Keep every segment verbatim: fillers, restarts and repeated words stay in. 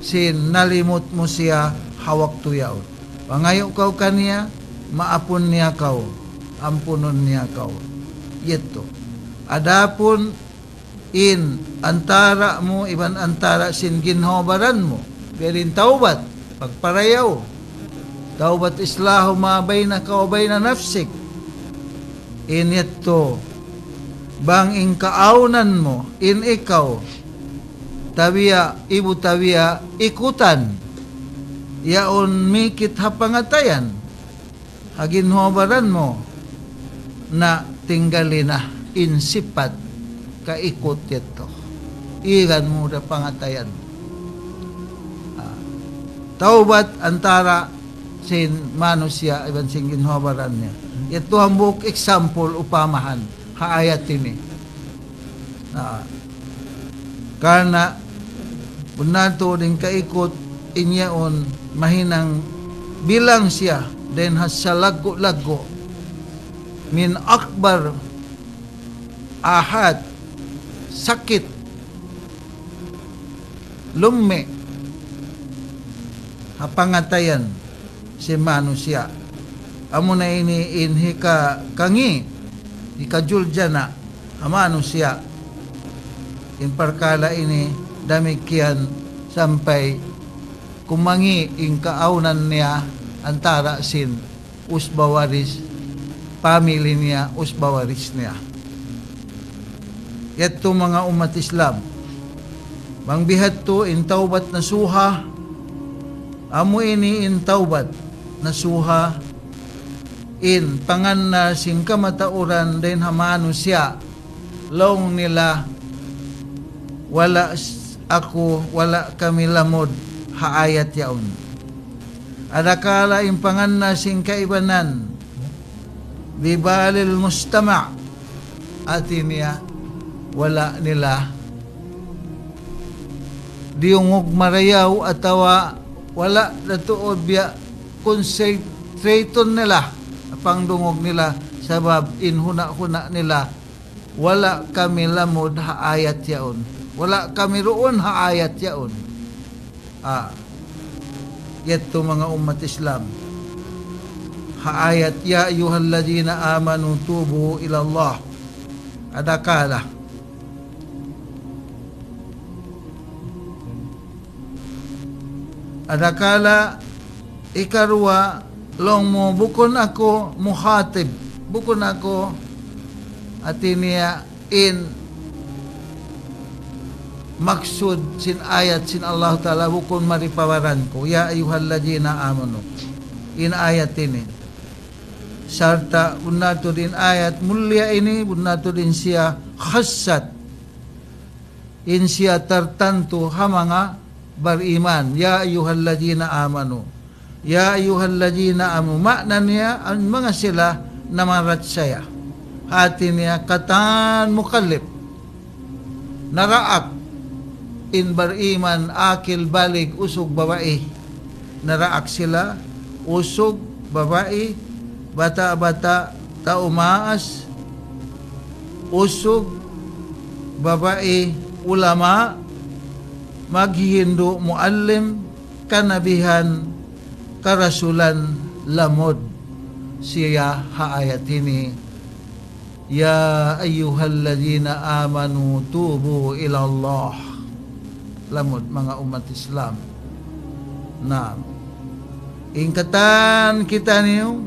sin nalimut mu siya ha waktu yaun. Pangayu' kaw kaniya, maapun niya kaw, ampunun niya kaw. Yadtu. Adapun in antara' mu iban antara' sin ginhawa-baran mu, biya' diin tawbat, pagparayaw. Tawbat, إصلاح ما بينك وبين نفسك. In yadtu, bang in kaawnan mu, in ikaw, tabiya', ibu tabiya', ikutan, yaun mikit ha pangatayan, ha ginhawa-baran mu, na tinggali na in sipat kaikut yadtu. Igan mu da pangatayan. Ah, tawbat antara' sin manusiya' iban sin ginhawa-baran niya. Yadtu hambuuk example upamahan ha ayat ini. Na, karna' bunnal tuud in kaikut in yaun mahinang bilang siya dayn ha salaggu'-laggu' من أكبر الآفات, sakit lummi' ha pangatayan sin manusiya'. Amuna ini in hika-, kangi', hikajuljana' ha manusiya'. In parkala' ini damikkiyan sampay kumangi' in kaawnan niya antara' sin usba waris, family niya, usba waris niya. Yadtu manga ummat Islam. Bang bihadtu in tawbat nasuha, amu ini in tawbat nasuha, in pangannal sin kamatauran dayn ha manusiya', laung nila, wala' s-, aku, wala' kami lamud ha ayat yaun. Adakala in pangannal sin kaibanan, ببال المستمع, hati niya, wala' nila diyungug marayaw atawa wala' da tuud biya' concentrate nila, pangdungug nila, sabab in huna'-huna' nila, wala' kami lamud ha ayat yaun. Wala' kami duun ha ayat yaun. Ah, yadtu manga ummat Islam. Ha ayat, يا أيها الذين آمنوا توبوا إلى الله. Adakala. Adakala ikaruwa, laung mu, bukun aku mukhatib, bukun aku, hati niya, in maksud sin ayat sin Allahu Ta'ala, bukun mari pa baran ku. يا أيها الذين آمنوا. In ayat ini. Sarta' bunnal tuud in ayat mulia ini, bunnal tuud in siya khassat. In siya tartantu ha manga bariman. يا أيها الذين آمنوا. يا أيها الذين آمنوا. Maana niya, in manga sila namarachaya. Hati niya, katan mukallif. Naraak in bariman, akil balig, usug babai. Naraak sila, usug babai, bata'-bata', tau maas, usug babai, ulama, maghihindu', muallim, kanabihan, karasulan, lamud siya ha ayat ini. يا أيها الذين آمنوا توبوا إلى الله. Lamud, manga ummat Islam. Naam. In katan kitaniyu,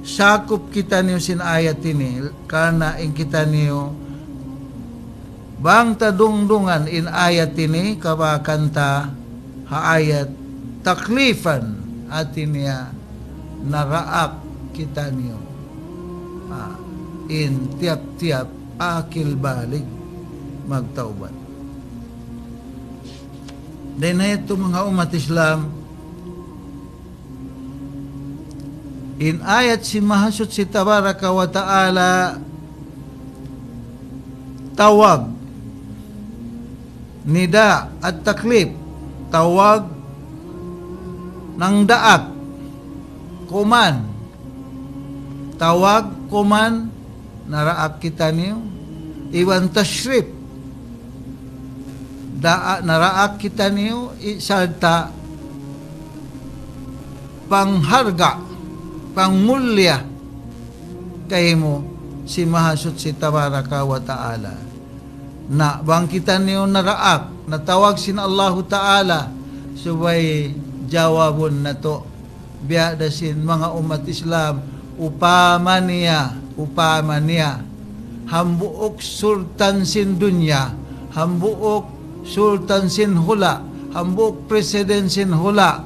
sakup kitaniyu sin ayat ini, karna' in kitaniyu, bang ta dungdungan in ayat ini, kabakan ta ha ayat taklifan, hati niya naraak kitaniyu. Ah, in tiyap-tiyap akil balig magtawbat. Dayn ha yadtu manga ummat Islam, in ayat sin Mahasuchi Tabaraka wa Ta'ala tawag, nida at-taklif, tawag nangdaak, kuman, tawag, kuman, naraak kitaniyu, iban tashrif, Daa-, naraak kitaniyu, i-, sarta' pangharga', pangmulliya kaymu sin Mahasuchi Tabaraka wa Ta'ala. Na bang kitaniyu naraak, natawag sin Allahu Ta'ala, subay jawabun natu'. Biya' da sin manga ummat Islam, upama niya, upama niya, hambuuk sultan sin dunya, hambuuk sultan sin hula', hambuuk president sin hula',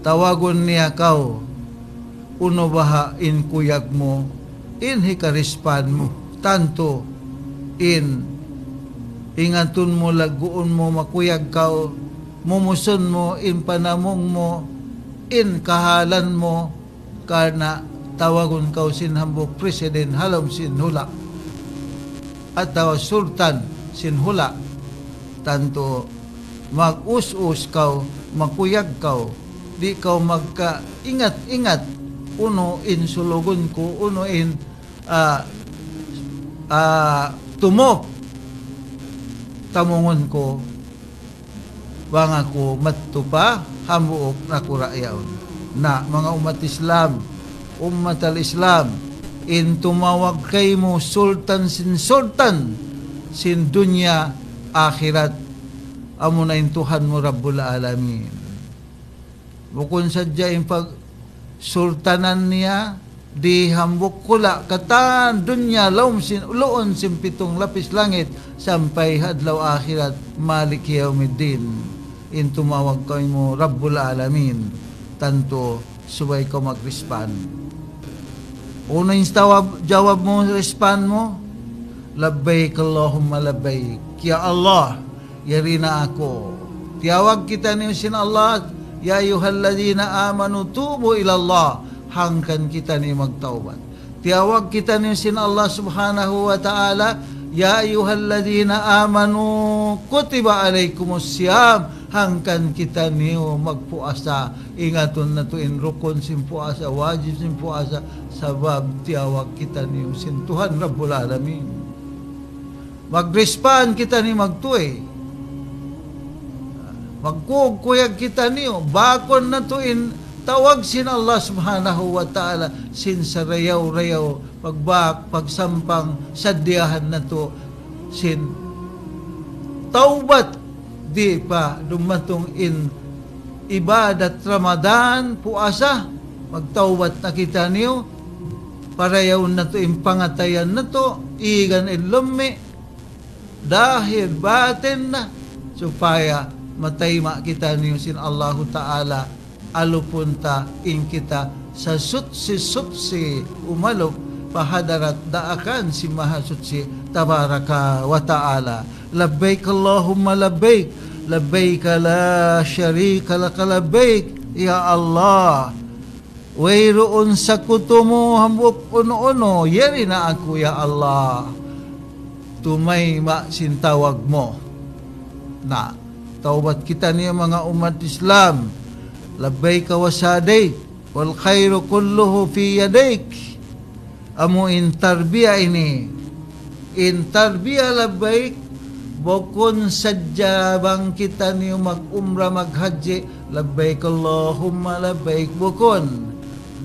tawagun niya kaw, unu baha' in kuyag mu, in hikarispan mu, tantu in ingatun mu, lagguun mu, makuyag kaw, mumusun mu in panamung mu, in kahalan mu, karna' tawagun kaw sin hambuuk president ha lawm sin hula' atawa sultan sin hula'. Tantu mag-us-us kaw, makuyag kaw, di' kaw magkaingat-ingat, unu in sulugun ku, unu in, ah, ah, tumuk tamungun ku, bang aku madtu pa hambuuk nakura' yaun. Na, manga ummat Islam, ummat al-Islam, in tumawag kaymu sultan sin sultan sin dunya akhirat, amuna in Tuhan mu Rabbul Alamin. Bukun sadja in pagsultanan niya di hambuuk hula' katan dunya, lawm sin, luun sin pitung lapis langit, sampay ha adlaw akhirat, Maliki Yawmiddin. In tumawag kaymu Rabbul Alamin, tantu subay kaw mag-respond. Unu in tawab-, jawab mu, respond mu? Labbaik Allahumma labbaik. Ya Allah, yari na aku. Tiyawag kitaniyu sin Allah, يا أيها الذين آمنوا توبوا إلى الله. Hangkan kitaniyu magtawbat. Tiyawag kitaniyu sin Allah Subhanahu wa Ta'ala, يا أيها الذين آمنوا كتب عليكم الصيام. Hangkan kitaniyu magpuasa. Ingatun natu' in rukun sin puasa, wajib sin puasa, sabab tiyawag kitaniyu sin Tuhan Rabbul Alamin. Mag-respond kitaniyu magtuy. Magkuyag-kuyag kitaniyu. Bakun natu' in tawag sin Allah Subhanahu wa Ta'ala sin sarayaw-rayaw, pagbak, pagsampang, sadiyahan natu' sin tawbat, di' pa dumatung in ibadat Ramadan, puasa, magtawbat na kitaniyu, parayawun natu' in pangatayan natu', igan in lummi', dahir batin na, supaya matayma' kitaniyu sin Allahu Ta'ala, alupun ta in kita sasuchi-suchi umalup pa hadarat daakan sin Mahasuchi Tabaraka wa Ta'ala. لبيك اللهم لبيك، لبيك لا شريك لك لبيك. Ya Allah, wayruun sakutu mu hambuuk unu-unu, yari na aku, ya Allah, tumayma' sin tawag mu. Na, tawbat kitaniyu manga ummat Islam. لبيك وسعديك، والخير كله في يديك. Amu in tarbiya ini. In tarbiya labbaik, bukun sadja bang kitaniyu mag-umrah, maghajji, labbaik Allahumma labbaik, bukun.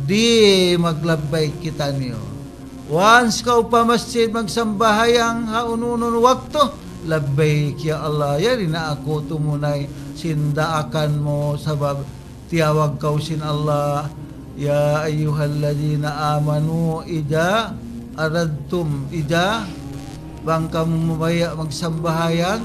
Di' maglabbaik kitaniyu. Once kaw pa masjid magsambahayang ha unu-unu waktu, labbaik ya Allah, yari na aku tumunay sin daakan mu, sabab tiyawag kaw sin Allah, يا أيها الذين آمنوا إذا أردتم, إذا, bang kamu mabaya' magsambahayang,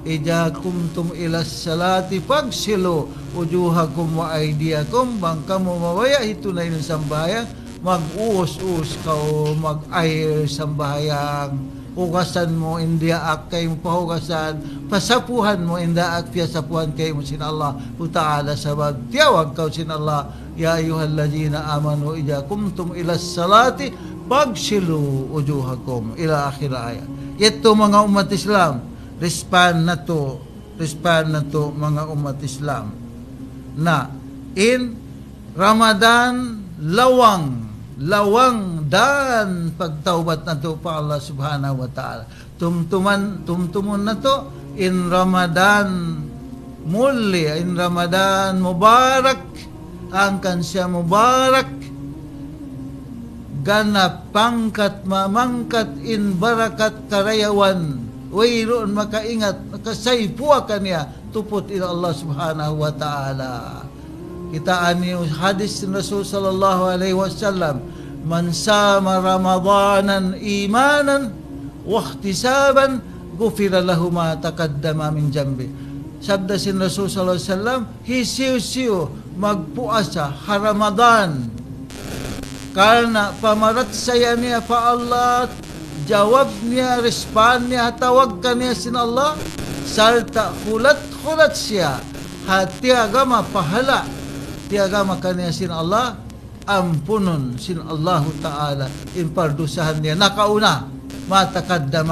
إذا قمتم إلى الصلاة فاغسلوا وجوهكم وأيديكم, bang kamu mabaya' hitunay in sambahayang, mag-us-us kaw, mag-air sambahayang, hugasan mu in diyaak kaymu pahugasan, pasapuhan mu in diyaak piyasapuhan kaymu sin Allahu Ta'ala, sabab tiyawag kaw sin Allah, يا أيها الذين آمنوا إذا قمتم إلى الصلاة فاغسلوا وجوهكم إلى آخر الآية. Yadtu manga ummat Islam, respond natu', respond natu' manga ummat Islam. Na, in Ramadan, lawang, lawang dan pagtawbat natu' pa Allah Subhanahu wa Ta'ala. Tumtuman, tumtumun natu', In Ramadan mulli, in Ramadan mubarak, hangkan siya mubarak, ganap pangkat mamangkat in barakat karayawan, wayruun makaingat, makasaypuwa kaniya, tuput ila Allah Subhanahu wa Ta'ala. Kitaa niyu hadis sin Rasul sallallahu alayhi wasallam, من صام رمضان إيمانا واحتسابا غفر له ما تقدم من ذنبه. Sabda sin Rasul sallallahu alayhi wasallam, hisiyu-siyu magpuasa ha Ramadan karna' pamarachaya niya pa Allah, jawab niya, respond niya ha tawag kaniya sin Allah, sarta' hulat-hulat siya ha tiyagama pahala', tiyagama kaniya sin Allah, ampunun sin Allahu Ta'ala in pardusahan niya nakauna, ما تقدم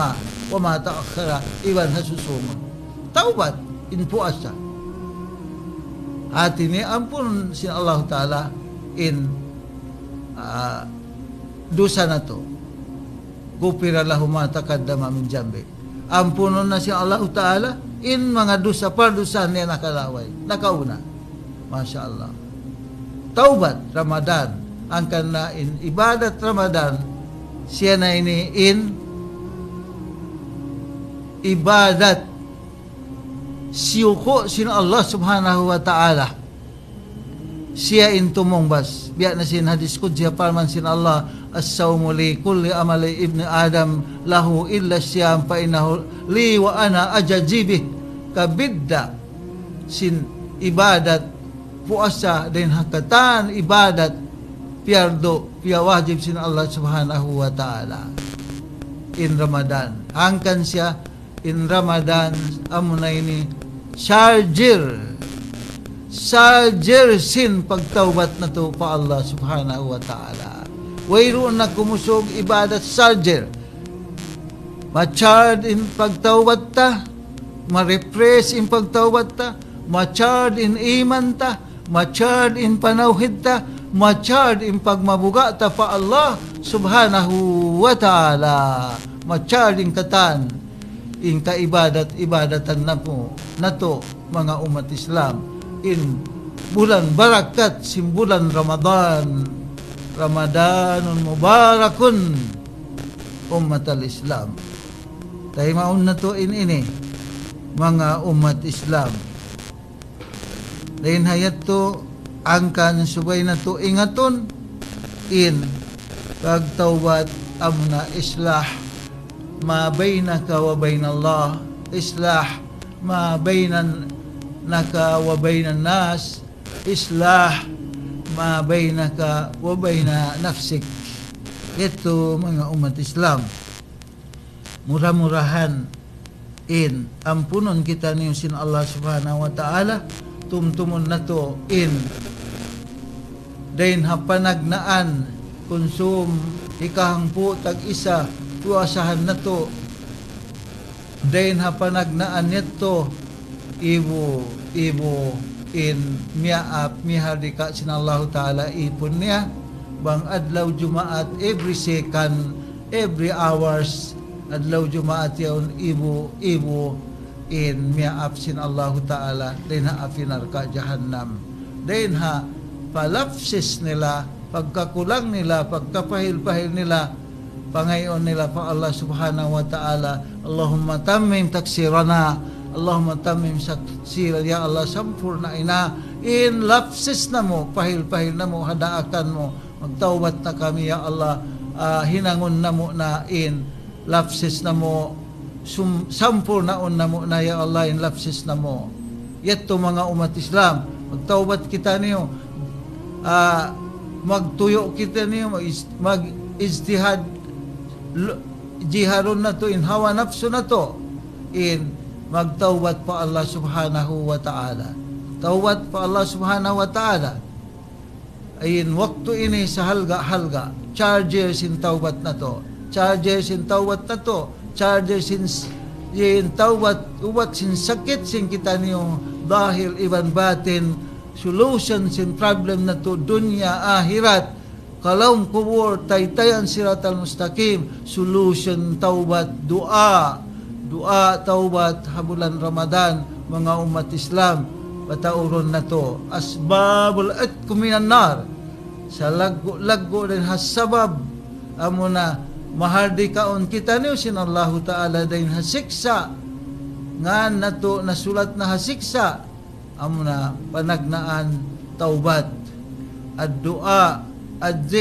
وما تأخر, iban ha susūngun. Tawbat in puasa. Hāti niya ampunun sin Allahu Ta'ala in, ah, dusa natu'. غفر له ما تقدم من ذنبه. Ampunun na sin Allahu Ta'ala in manga dusa, pardusahan niya nakalaway, nakauna. Masha Allah. Tawbat Ramadan. Hangkan na in ibadat Ramadan, siya na ini in ibadat siyuku' sin Allah Subhanahu wa Ta'ala. Siya in tumungbas. Biya' na sin hadis qudsi, parman sin Allah, الصوم لي كل عمل ابن آدم له إلا الصيام فإنه لي وأنا أجزي به. Kabidda' sin ibadat puasa dayn ha katan ibadat piyardu, piyawajib sin Allah Subhanahu wa Ta'ala. In Ramadan. Hangkan siya in Ramadan, amuna ini charger. Charger sin pagtawbat natu' pa Allah Subhanahu wa Ta'ala. Wayruun na kumusug ibadat charger. Ma-charge in pagtawbat ta, ma-refresh in pagtawbat ta, ma-charge in iman ta, ma-charge in panawhid ta, ma-charge in pagmabuga' ta pa Allah Subhanahu wa Ta'ala. Ma-charge in katan, in kaibadat-ibadatan natu', natu', manga ummat Islam. In bulan barakat sin bulan Ramadan. رمضان مبارك أمة الإسلام. Taymaun natu' in ini, manga ummat Islam. Dayn ha yadtu, hangkan subay natu' ingatun in pagtawbat, amuna إصلاح ما بينك وبين الله، إصلاح ما بينك وبين الناس، إصلاح ما بينك وبين نفسك. Yadtu manga ummat Islam. Mura-murahan in ampunun kitaniyu sin Allah Subhanahu wa Ta'ala, tumtumun natu' in dayn ha panagnaan kunsum hikahangpu' tag-isa puasahan natu'. Dayn ha panagnaan yadtu, ibu, ibu in miyaap, mihardika sin Allahu Ta'ala ipun niya, bang adlaw Jumaat, every second, every hours, adlaw Jumaat yaun ibu, ibu in miyaap sin Allahu Ta'ala, dayn ha api narka' jahannam. Dayn ha palapsis nila, pagkakulang nila, pagkapahil-pahil nila, pangayuun nila pa Allah Subhanahu wa Ta'ala, اللهم تمم تقصيرنا، اللهم تمم تقصيرنا, ya Allah, sampurna'i na in lapses namu', pahil-pahil namu', ha daakan mu, magtawbat na kami, ya Allah, ah, hinangun namu' na in lapses namu', sum-, sampurnaun namu' na, ya Allah, in lapses namu'. Yadtu manga ummat Islam, magtawbat kitaniyu, ah, magtuyu' kitaniyu, mag-is-, mag-ijtihad, lu-, jihadun natu' in hawa napsu natu', in magtawbat pa Allah Subhanahu wa Ta'ala. Tawbat pa Allah Subhanahu wa Ta'ala. In waktu ini sahalga'-halga', charger sin tawbat natu', charger sin tawbat natu', charger sin s-, in tawbat, ubat sin sakit sin kitaniyu, zahir iban batin, solution sin problem natu', dunya, ahirat, kalaum kubul, taytayan siratal mustaqim, solution tawbat, duwaa, Duwaa tawbat ha bulan Ramadan, manga ummat Islam, pataurun natu'. Asbabul itq minan nar. Salaggu'-laggu' dayn ha sabab, amuna mahardikaun kitaniyu sin Allahu Ta'ala dayn ha siksa'. Ngan natu' nasulat na ha siksa'. Amuna panagnaan tawbat. Ad-du'a, ad-dhikr,